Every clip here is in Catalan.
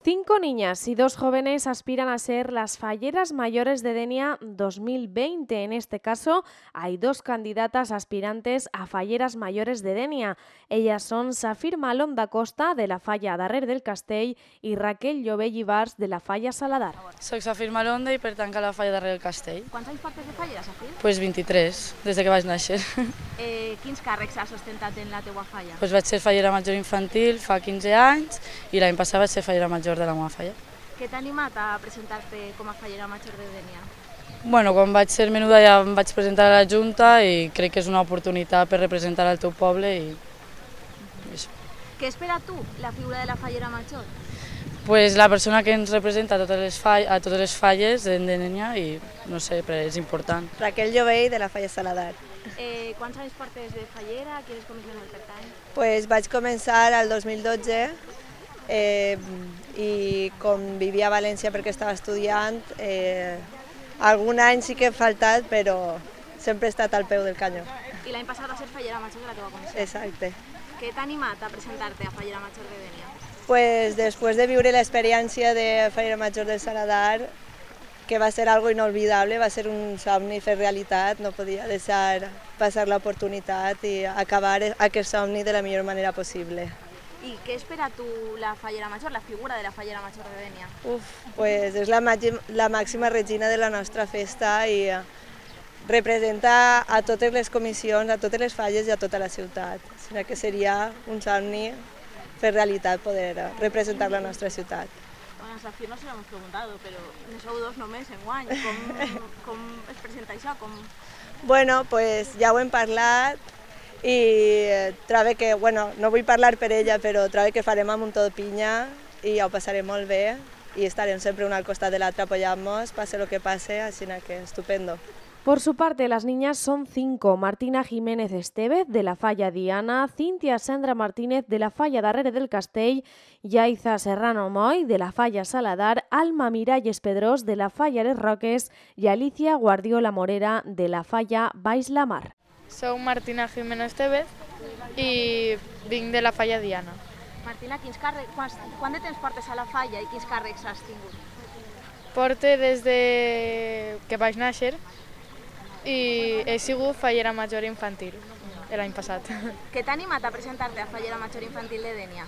5 niñas y 2 jóvenes aspiran a ser las falleras mayores de Denia 2020. En este caso, hay 2 candidatas aspirantes a falleras mayores de Denia. Ellas son Safir Malom da Costa, de la Falla Darrer del Castell, y Raquel Llobell Ibars, de la Falla Saladar. Soc Safir Malonda i pertanc a la Falla Darrer del Castell. Quants anys portes de fallera, Safir? Pues 23, des que vaig néixer. Quins càrrecs has ostentat en la teua falla? Pues vaig ser fallera major infantil fa 15 anys i l'any passat vaig ser fallera major de la meva falla. Què t'ha animat a presentar-te com a fallera major de Denia? Bueno, quan vaig ser menuda ja em vaig presentar a la Junta i crec que és una oportunitat per representar el teu poble i això. Què espera tu, la figura de la fallera major? Pues la persona que ens representa a totes les falles de Denia i no sé, és important. Raquel Llobell, de la Falla Saladar. Quants anys portes de fallera? Quines comissions el pertany? Pues vaig començar al 2012 i com vivia a València perquè estava estudiant, algun any sí que he faltat, però sempre he estat al peu del canyó. I l'any passat va ser fallera major de la teva comissió. Exacte. Què t'ha animat a presentar-te a fallera major de Denia? Pues després de viure l'experiència de fallera major del Saladar, que va ser algo inolvidable, va ser un somni fer realitat, no podia deixar passar l'oportunitat i acabar aquest somni de la millor manera possible. I què espera tu la fallera major, la figura de la fallera major de Denia? Pues és la màxima regina de la nostra festa i representa a totes les comissions, a totes les falles i a tota la ciutat. O sigui que seria un somni fer realitat poder representar la nostra ciutat. Bueno, Safir, no se l'hem preguntat, però ne sou 2 només enguany. Com es presenta això? Bueno, pues ja ho hem parlat i trobo que, bueno, no vull parlar per ella, però trobo que farem amb un tot pinya i ja ho passarem molt bé i estarem sempre un al costat de l'altre apoyant-nos, passe lo que passe, així que estupendo. Por su parte, las niñas son 5. Martina Jiménez Estevez, de la Falla Diana, Cintia Sandra Martínez, de la Falla Darrer del Castell, Yaiza Serrano Moy, de la Falla Saladar, Alma Miralles Pedrós, de la Falla Les Roques, i Alicia Guardiola Morera, de la Falla Baix la Mar. Soc Martina Jiménez Estevez i vinc de la Falla Diana. Martina, quant de temps portes a la falla i quins càrrecs has tingut? Porte des que vaig néixer i he sigut fallera major infantil l'any passat. Què t'ha animat a presentar-te a fallera major infantil de Denia?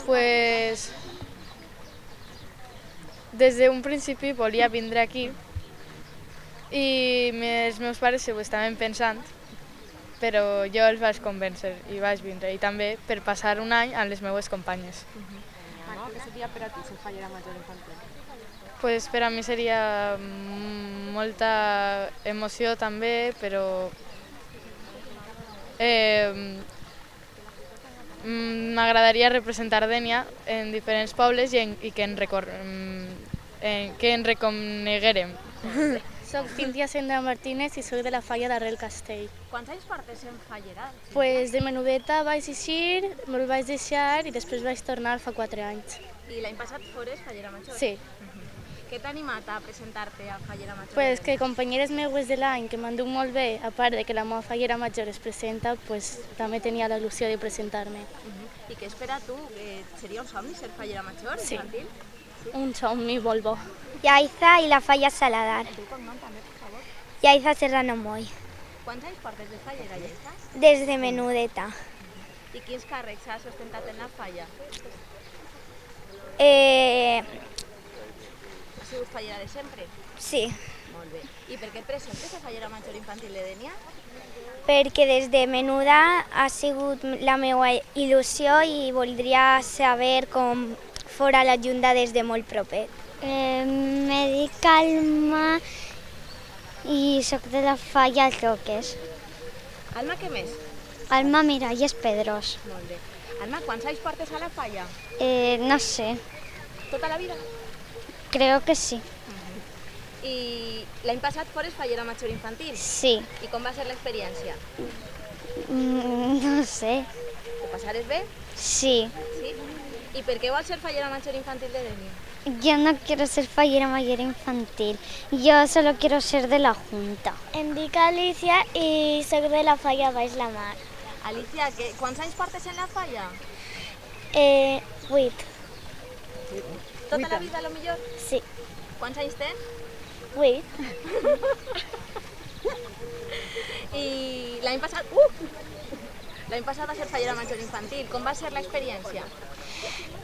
Pues des d'un principi volia vindre aquí i els meus pares ho estaven pensant, però jo els vaig convèncer i vaig vindre, i també per passar un any amb les meves companyes. Què seria per a tu ser fallera major infantil? Pues per a mi seria molta emoció també, però m'agradaria representar Denia en diferents pobles i que en reconeguérem. Soc Cintia Sandra Martínez i soc de la Falla Darrer del Castell. Quants anys portes en fallera? Pues de menudeta vaig eixir, me'l vaig deixar i després vaig tornar fa 4 anys. I l'any passat fores fallera major? Sí. Què t'ha animat a presentar-te a fallera major? Pues que companyeres meues de l'any que m'han dut molt bé, a part de que la meva fallera major es presenta, pues també tenia la il·lusió de presentar-me. I què espera tu? Seria un somni ser fallera major infantil? Un somni molt bo. Yaiza i la Falla Saladar. El teu cognom també, per favor. Yaiza Serrano Moy. Quants anys portes de fallera, Yaiza? Des de menudeta. I quins càrrecs has ostentat en la falla? Has sigut fallera de sempre? Sí, Molt bé. I per què et presentes a fallera major infantil de Denia? perquè des de menuda ha sigut la meva il·lusió i voldria saber com fora la Junta des de molt proper. Me dic Alma i soc de la Falla Roques. Alma, què més? Alma Miralles Pedrós. Molt bé. Alma, quants anys portes a la falla? No sé, Tota la vida? creo que sí. I l'any passat fores fallera major infantil? Sí, I com va ser l'experiència? no sé, Ho passares bé? sí. Sí? I per què vols ser fallera major infantil de Denia? Yo no quiero ser fallera mayor infantil, yo solo quiero ser de la Junta. Em dic Alicia i soc de la Falla Baix la Mar. Alicia, quants anys portes en la falla? 8. Tota la vida, a lo millor? Sí. Quants anys tens? 8. I l'any passat... L'any passat va ser fallera major infantil. Com va ser l'experiència?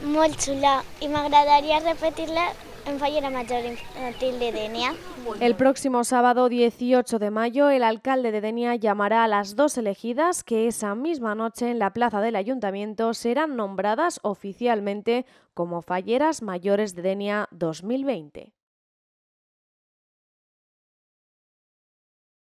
Molt xula y me agradaría repetirla en fallera mayor infantil de Denia. El próximo sábado 18 de mayo, el alcalde de Denia llamará a las 2 elegidas que esa misma noche en la plaza del ayuntamiento serán nombradas oficialmente como falleras mayores de Denia 2020.